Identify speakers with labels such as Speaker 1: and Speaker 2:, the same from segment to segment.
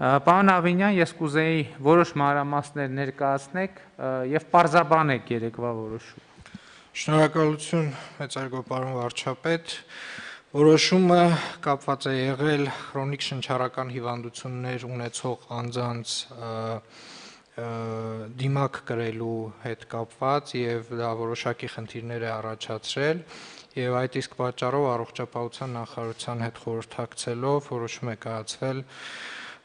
Speaker 1: Պարոն Ավինյան, ես կուզեի որոշ մանրամասներ ներկայացնեք եւ պարզաբանեք երեկվա որոշումը։
Speaker 2: Շնորհակալություն, մեծարգո պարոն վարչապետ, որոշումը կապված է եղել քրոնիկ շնչառական հիվանդություններ ունեցող անձանց դիմակ կրելու հետ կապված եւ դա որոշակի խնդիրներ է առաջացրել եւ այդ իսկ պատճառով առողջապահության նախարարության հետ խորհրդակցելով որոշում է կայացվել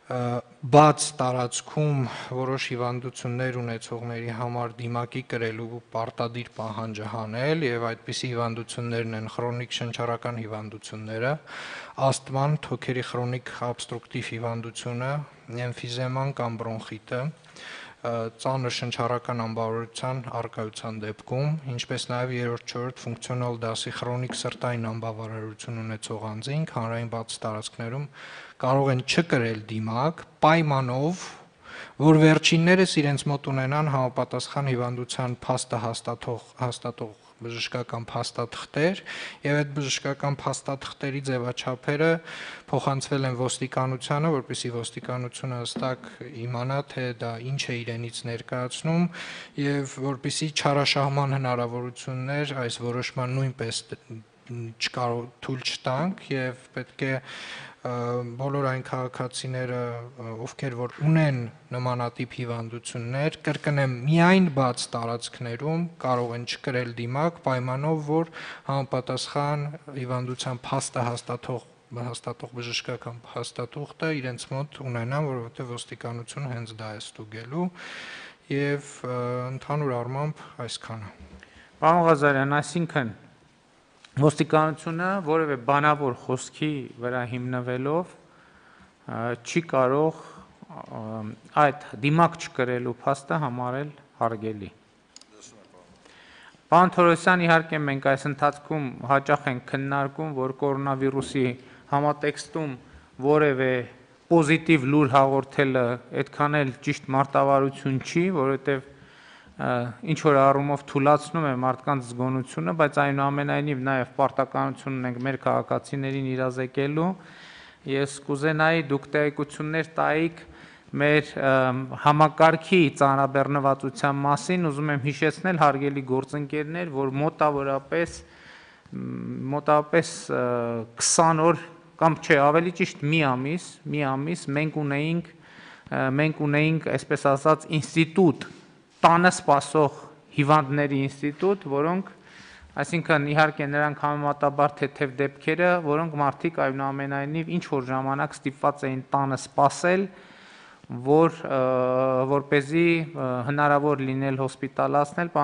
Speaker 2: բաց տարածքում որոշ հիվանդություններ ունեցողների համար դիմակի կրելու պարտադիր պահանջը հանել եւ այդպիսի հիվանդություններն են քրոնիկ շնչառական հիվանդությունները, ասթման, թոքերի քրոնիկ օբստրուկտիվ հիվանդությունը, էմֆիզեման կամ բրոնխիտը, ծանր շնչառական անբավարարության առկայության դեպքում, ինչպես նաեւ 3-4 ֆունկցիոնալ դասի քրոնիկ սրտային անբավարարություն ունեցող անձինք հանրային բաց տարածքներում կարող են չկրել դիմակ պայմանով, որ վերջիններս իրենց մոտ ունենան համապատասխան հիվանդության փաստը հաստատող բժշկական փաստաթղթեր եւ այդ բժշկական փաստաթղթերի ձևաչափերը փոխանցվել են ոստիկանությանը, որպեսզի ոստիկանությունը հստակ իմանա, թե դա ինչ է իրենից ներկայացնում եւ որպեսզի չարաշահման հնարավորություններ այս որոշման նույնպես թույլ չտանք եւ պետք է բոլոր այն քաղաքացիները, ովքեր որ ունեն նմանատիպ հիվանդություններ, կրկնեմ, միայն բաց տարածքներում կարող են չկրել դիմակ, պայմանով, որ համապատասխան հիվանդության փաստը հաստատող բժշկական փաստաթուղթը իրենց մոտ ունենան, որովհետեւ ոստիկանությունը հենց դա է ստուգելու եւ ընդհանուր առմամբ այսքանը։
Speaker 1: Պարոն Ղազարյան, այսինքն ոստիկանությունը որևէ բանավոր խոսքի վրա հիմնվելով չի կարող այդ դիմակ չկրելու փաստը համարել հարգելի։ Պարոն Թորոսյան, իհարկե մենք այս ընթացքում հաճախ ենք քննարկում, որ կորոնավիրուսի համատեքստում որևէ պոզիտիվ լուր հաղորդելը այդքան էլ ճիշտ մարտավարություն չի, որովհետև ինչ որ առումով թուլացնում է մարդկանց զգոնությունը, բայց այնուամենայնիվ նաև պարտականություն ունենք մեր քաղաքացիներին իրազեկելու։ Ես կուզենայի դուք տեղեկություններ տայիք մեր համակարգի ծանրաբեռնվածության մասին, ուզում եմ հիշեցնել հարգելի գործընկերներ, որ մոտավորապես 20 օր կամ չէ, ավելի ճիշտ մի ամիս մենք ունեինք, այսպես ասած, ինստիտուտ, տանը սպասող հիվանդների ինստիտուտ, որոնք, այսինքն իհարկե նրանք համեմատաբար թեթև դեպքերը, որոնք մարդիկ այնուամենայնիվ ինչ որ ժամանակ ստիպված էին տանը սպասել, որպեսզի հնարավոր լինել հոսպիտալացնել